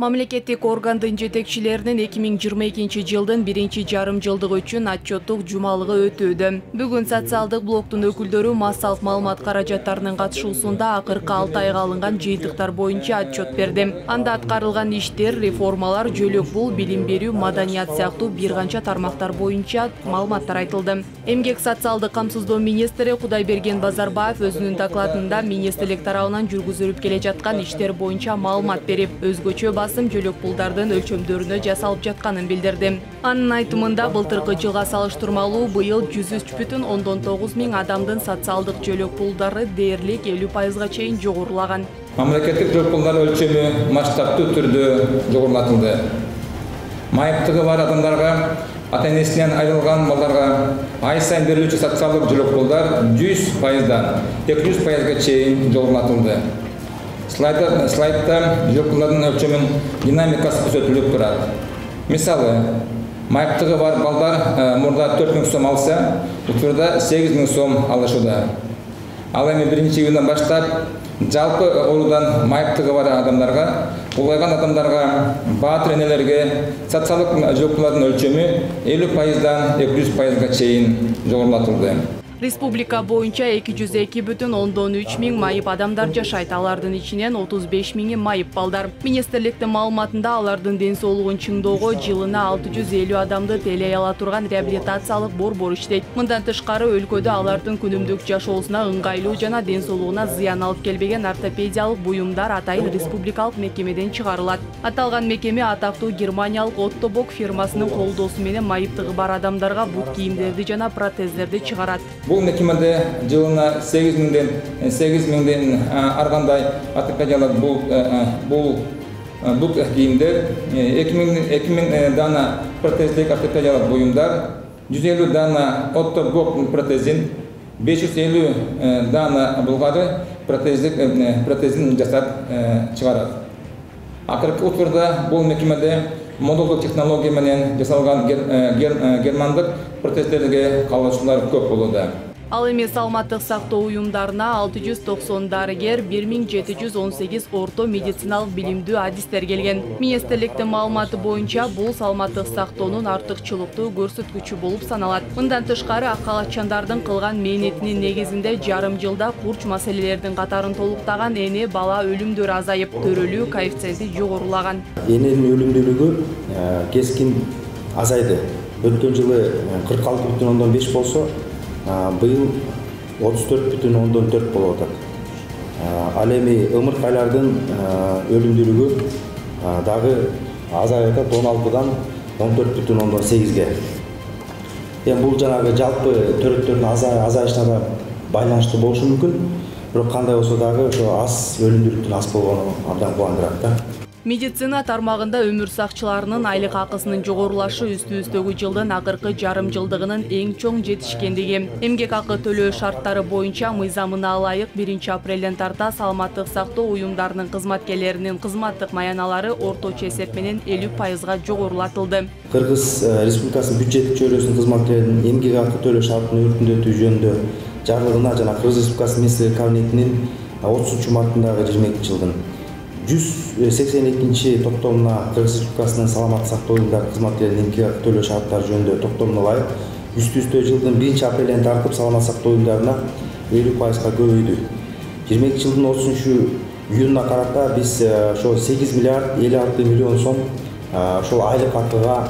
Мамлекеттик органдын жетекчилеринин 2022 жылдын 1-жарым-жылдыгы үчүн отчеттук жумалыгы өтүүдө. Бүгүн социалдык блоктун өкүлдөрү массалык маалымат каражаттарынын катышуусунда акыркы 6 айга алынган жыйынтыктар боюнча отчет берди. Анда аткарылган иштер, реформалар, жөлөк бул, билим берүү, маданият сыяктуу бир канча тармактар боюнча маалыматтар айтылды. Эмгек социалдык камсыздоо министри Кудайберген Базарбаев өзүнүн докладында министрлик тарабынан жүргүзүлүп келе жаткан иштер боюнча маалымат берип, өзгөчө басым жөлөк пулдардын өлчөмдөрүнө жасалып жатканын билдирди. Анын айтымында былтыркы жылга салыштырмалуу быйыл 103,9 миң адамдын социалдык жөлөк пулдары дээрлик 50%га чейин жогорулаган. Мамлекеттик жөлөк пулдар өлчөмү масштабтуу түрдө жогорулатылды. Майыптыгы бар адамдарга, ата-энесинен айрылган балдарга ай сайын берилүүчү социалдык жөлөк пулдар 100%дан 200%га чейин жогорулатылды. Слайдта жөлөк пулдардын өлчөмүнүн динамикасы көрсөтүлүп турат. Мисалы, майыптыгы бар балдар мурда 4 миң сом алса, учурда 8 миң сом алышууда. Ал эми 1-июндан баштап жалпы оруудан майыптыгы бар адамдарга, улгайган адамдарга, баатыр энелерге социалдык жөлөк пулдардын өлчөмү 50%дан 200%га чейин жогорулатылды. Республика боюнча 202,3 миң майып адамдар жашайт. Алардын ичинен 35 миңи майып балдар. Министрликтин маалыматында алардын ден соолугун чыңоого жылына 650 адамды тейлей ала турган реабилитациялык борбор иштейт. Мындан тышкары өлкөдө алардын күнүмдүк жашоосуна ыңгайлуу жана ден соолугуна зыян алып келбеген ортопедиялык буюмдар атайын республикалык мекемеден чыгарылат. Аталган мекеме атактуу германиялык Оттобок фирмасынын колдоосу менен майыптыгы бар адамдарга бут кийимдерди жана протездерди чыгарат. Бул мекемеде жылына 8 миңден аргандай ортопедиялык бул кийимдер, 2 миң дана протездик ортопедиялык буюмдар, 150 дана Оттобок протезин, 550 дана булгары протезин жасап чыгарат. Акыркы учурда бул мекемеде модулдук технология менен жасалган германдык протездерге каалоочулар көп болууда. Ал эми саламаттык сактоо уюмдарына 690 дарыгер, 1718 орто медициналык билимдүү адистер келген. Министрликтин маалыматы боюнча бул саламаттык сактоонун артыкчылыктуу көрсөткүчү болуп саналат. Мындан тышкары ак калаччандардын кылган мээнетинин негизинде жарым жылда курч маселелердин катарын толуктаган эне бала өлүмдөрү азайып, төрөлүү коэффициенти жогорулаган. Эненин өлүмдүүлүгү кескин азайды. Өткөн жылы 46,5 болсо, быйыл 34,4 болуп атат. Ал эми ымыркайлардын өлүмдүүлүгү дагы азайып атат, 16дан 14,8ге. Эми бул жанагы жалпы төрөттөрдүн азайышына байланыштуу болушу мүмкүн, бирок кандай болсо дагы ошо аз өлүмдүүлүктүн аз болгону абдан кубандырат да. Медицина тармагында өмүр сакчыларынын айлык акысынын жогорулашы үстүбүздөгү жылдын акыркы жарым жылдыгынын эң чоң жетишкендиги. Эмгек акы төлөө шарттары боюнча мыйзамына ылайык 1-апрелден тарта саламаттык сактоо уюмдарынын кызматкерлеринин кызматтык маяналары орточо эсеп менен 50%га жогорулатылды. Кыргыз Республикасынын бюджеттик чөйрөсүнүн кызматкерлеринин эмгек акы төлөө шартын өркүндөтүү жөнүндө жарлыгына жана Кыргыз Республикасынын министрлер кабинетинин 30-мартындагы 22-жылдын 182 токтомуна Кыргыз Республикасынын саламаттык сактоо уюмдары кызматкерлеринин эмгек акы төлөө шарттары жөнүндө токтомуна ылайык үстү-үстө жылдын 1-апрелден тартып саламаттык сактоо уюмдарына 50%га көбөйдү. 22-жылдын 30-июнуна карата биз ошо 8 миллиард 56 миллион сом ошол айлык акыга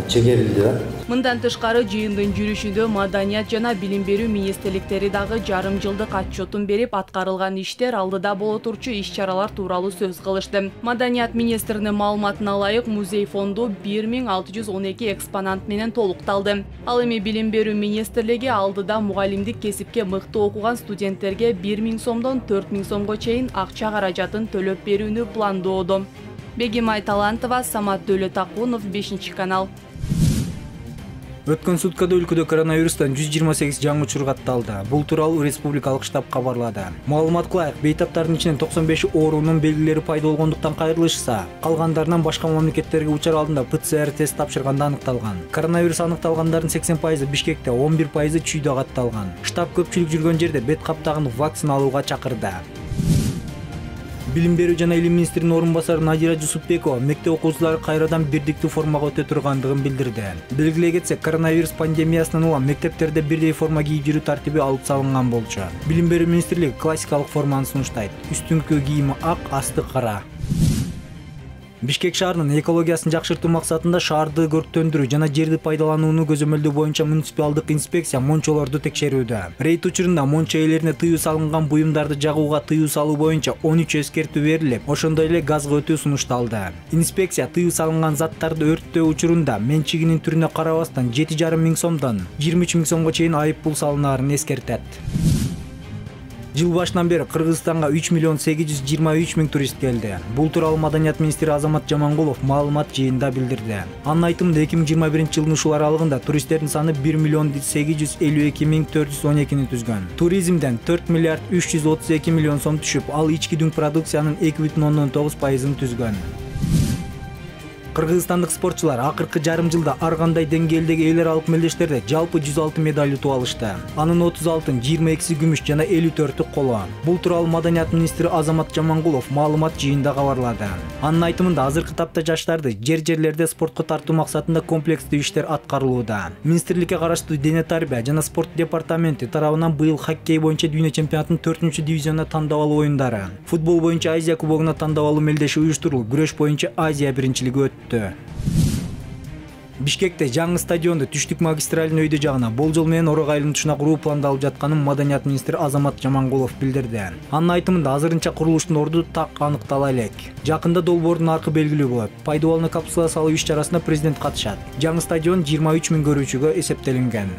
чегерилди да. Мындан тышкары жыйындын жүрүшүндө маданият жана билим берүү министрликтери дагы жарым жылдык отчетун берип, аткарылган иштер, алдыда боло турчу иш-чаралар тууралуу сөз кылышты. Маданият министринин маалыматына ылайык музей фонду 1612 экспонат менен толукталды. Ал эми билим берүү министрлиги алдыда мугалимдик кесипке мыкты окуган студенттерге 1 миң сомдон 4 миң сомго чейин акча каражатын төлөп берүүнү пландоодо. Бегимай Талантова, Самат Дөөлөтакунов, 5-канал. Өткөн суткада өлкөдө коронавирустан 128 жаңы учур катталды. Бул тууралуу республикалык штаб кабарлады. Маалыматка ылайык, бейтаптардын ичинен 95 оорунун белгилери пайда болгондуктан кайрылышса, калгандарынан башка мамлекеттерге учар алдында ПЦР тест тапшырганда аныкталган. Коронавирус аныкталгандардын 80% Бишкекте, 11% Чүйдө катталган. Штаб көпчүлүк жүргөн жерде бет каптагын вакцина алууга чакырды. Билим берүү жана илим министринин орун басары Надира Жусупбекова мектеп окуучулары кайрадан бирдиктүү формага өтө тургандыгын билдирди. Белгилей кетсек, коронавирус пандемиясынан улам мектептерде бирдей форма кийип жүрүү тартиби алып салынган болчу. Билим берүү министрлиги классикалык форманы сунуштайт. Үстүңкү кийими ак, асты кара. Бишкек шаарынын экологиясын жакшыртуу максатында шаарды көрктөндүрүү жана жерди пайдаланууну көзөмөлдөө боюнча муниципалдык инспекция мончолорду текшерүүдө. Рейд учурунда мончо ээлерине тыюу салынган буюмдарды жагууга тыюу салуу боюнча 13 эскертүү берилип, ошондой эле газга өтүү сунушталды. Инспекция тыюу салынган заттарды өрттөө учурунда менчигинин түрүнө карабастан 7,5 миң сомдон 23 миң сомго чейин айып пул салынаарын эскертет. Жыл башынан бери Кыргызстанга 3 миллион 823 миң турист келди. Бул тууралуу Маданият министри Азамат Жамангулов маалымат жыйынында билдирди. Анын айтымында 2021 жылдын ушул аралыгында туристтердин саны 1 миллион 852 миң 412 түзгөн. Туризмден 4 миллиард 332 миллион сом түшүп, ал ички дүң продукциянын 2,9% түзгөн. Кыргызстандык спортчулар акыркы жарым жылда ар кандай деңгээлдеги эл аралык мелдештерде жалпы 106 медаль утуп алышты. Анын 30 алтын, 22 күмүш жана 54 коло. Бул тууралуу Маданият министри Азамат Жамангулов маалымат жыйынында кабарлады. Анын айтымында азыркы тапта жаштарды жерлерде спортко тартуу максатында комплекстүү иштер аткарылууда. Министрликке караштуу дене тарбия жана спорт департаменти тарабынан быйыл хоккей боюнча дүйнө чемпионатынын 4-дивизионуна тандап алуу оюндары, футбол боюнча Азия кубогуна тандап алуу мелдеши уюштурулуп, күрөш боюнча Азия биринчилиги өттү. Бишкекте жаңы стадионду түштүк магистралдын өйдө жагына болжол менен орок айлантышына куруу пландалып жатканын Маданият министри Азамат Жамангулов билдирди. Анын айтымында азырынча курулуштун орду так аныктала элек. Жакында долбоордун аркы белгилүү болот. Пайдубалына капсула салуу иш-чарасына президент катышат. Жаңы стадион 23 миң көрүүчүгө эсептелинген.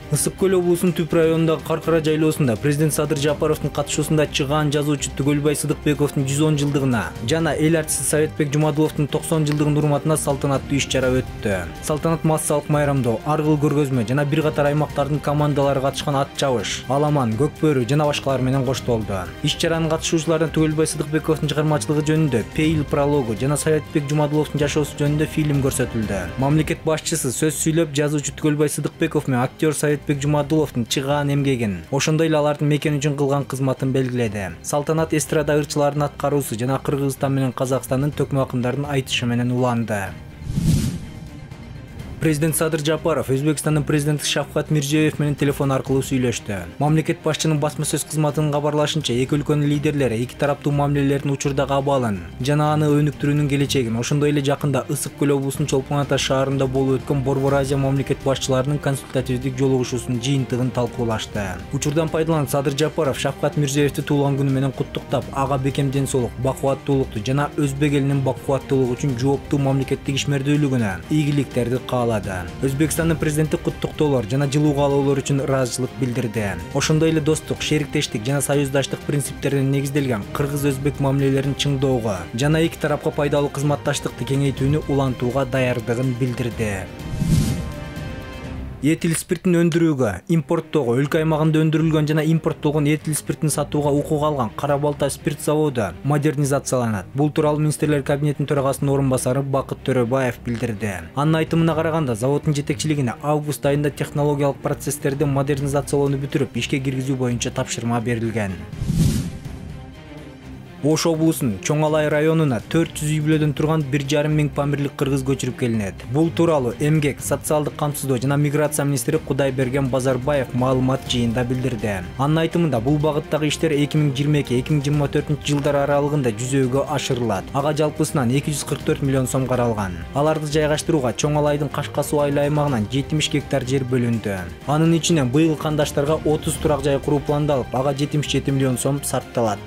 Ысык көл облусунун Түп районундагы Каркара жайлоосунда президент Садыр Жапаровдун катышуусунда чыгаан жазуучу Түгөлбай Сыдыкбековдун 110 жылдыгына жана эл артисти Советбек Жумадуловдун 90 жылдыгынын урматына салтанаттуу иш-чара өттү. Салтанат массалык майрамдоо, ар кыл көргөзмө жана бир катар аймактардын командалары катышкан ат чабыш, аламан, көкбөрү жана башкалар менен коштолду. Иш-чаранын катышуучуларына Түгөлбай Сыдыкбековдун чыгармачылыгы жөнүндө Пейил прологу жана Советбек Жумадуловдун жашоосу жөнүндө фильм көрсөтүлдү. Мамлекет башчысы сөз сүйлөп, жазуучу Түгөлбай Сыдыкбеков менен актер Советбек Жумадуловдун чыгаан эмгегин, ошондой эле алардын мекен үчүн кылган кызматын белгиледи. Салтанат эстрада ырчыларынын аткаруусу жана Кыргызстан менен Казакстандын төкмө акындардын айтышы менен уланды. Президент Садыр Жапаров Өзбекстандын президенти Шавкат Мирзиёев менен телефон аркылуу сүйлөштү. Мамлекет башчынын басма сөз кызматынын кабарлашынча, эки өлкөнүн лидерлери эки тараптуу мамилелердин учурдагы абалын жана аны өнүктүрүүнүн келечегин, ошондой эле жакында Ысык көл облусунун Чолпон Ата шаарында болуп өткөн Борбор Азия мамлекет башчыларынын консультативдик жолугушуусунун жыйынтыгын талкуулашты. Учурдан пайдаланып Садыр Жапаров Шавкат Мирзиёевди туулган күнү менен куттуктап, ага бекем ден соолук, бакубаттуулукту жана өзбек элинин бакубаттуулугу үчүн жооптуу мамлекеттик ишмердүүлүгүнө ийгиликтерди Өзбекстандын президенти куттуктоолор жана жылуу каалоолор үчүн ыраазычылык билдирди. Ошондой эле достук, шериктештик жана союздаштык принциптерине негизделген кыргыз-өзбек мамилелерин чыңдоого жана эки тарапка пайдалуу кызматташтыкты кеңейтүүнү улантууга даярдыгын билдирди. Этил спиртин өндүрүүгө, импорттоого, өлкө аймагында өндүрүлгөн жана импорттолгон этил спиртин сатууга укук алган Кара Балта спирт заводу модернизацияланат. Бул тууралуу министрлер кабинетинин төрагасынын орун басары Бакыт Төрөбаев билдирди. Анын айтымына караганда, заводдун жетекчилигине август айында технологиялык процесстерди модернизациялоону бүтүрүп, ишке киргизүү боюнча тапшырма берилген. Ош облусунун Чоң Алай районуна 400 үй бүлөдөн турган 1,5 миң памирлик кыргыз көчүрүп келинет. Бул тууралуу Эмгек, социалдык камсыздоо жана миграция министри Кудайберген Базарбаев маалымат жыйында билдирди. Анын айтымында, бул багыттагы иштер 2022-2024 жылдар аралыгында жүзөөгө ашырылат. Ага жалпысынан 244 миллион сом каралган. Аларды жайгаштырууга Чоң Алайдын Кашка суу айыл аймагынан 70 гектар жер бөлүндү. Анын ичинен быйыл кандаштарга 30 турак жай куруу пландалып, ага 77 миллион сом сарпталат.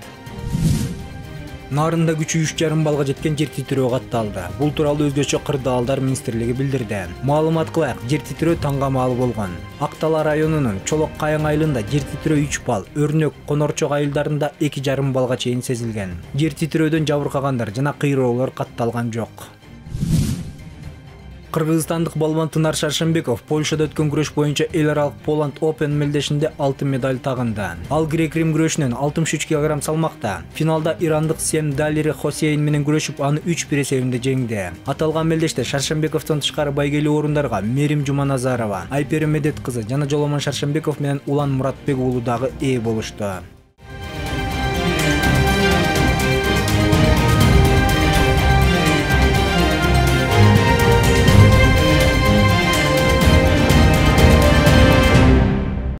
Нарында күчү 3,5 балга жеткен жер титирөө катталды. Бул тууралуу өзгөчө Кырдаалдар министрлиги билдирди. Маалымат кылайык, жер титирөө таңгамаал болгон. Актала районунун Чолок Кайың айылында жер титирөө 3 бал, Өрнөк, Конорчок айылдарында 2,5 балга чейин сезилген. Жер титирөөдөн жабыркагандар жана кыйроолор катталган жок. Кыргызстандык балбан Тынар Шаршембеков Польшада өткөн күрөш боюнча эл аралык Poland Open мелдешинде алтын медаль тагынды. Ал грек-рим күрөшүнөн 63 кг салмакта финалда ирандык Сем Далери Хосейн менен күрөшүп, аны 3-1 эсебинде жеңди. Аталган мелдеште Шаршембековдон тышкары байгелүү орундарга Мерим Жуманазарова, Айпери Медет кызы жана Жоломон Шаршембеков менен Улан Муратбек уулу дагы ээ болушту.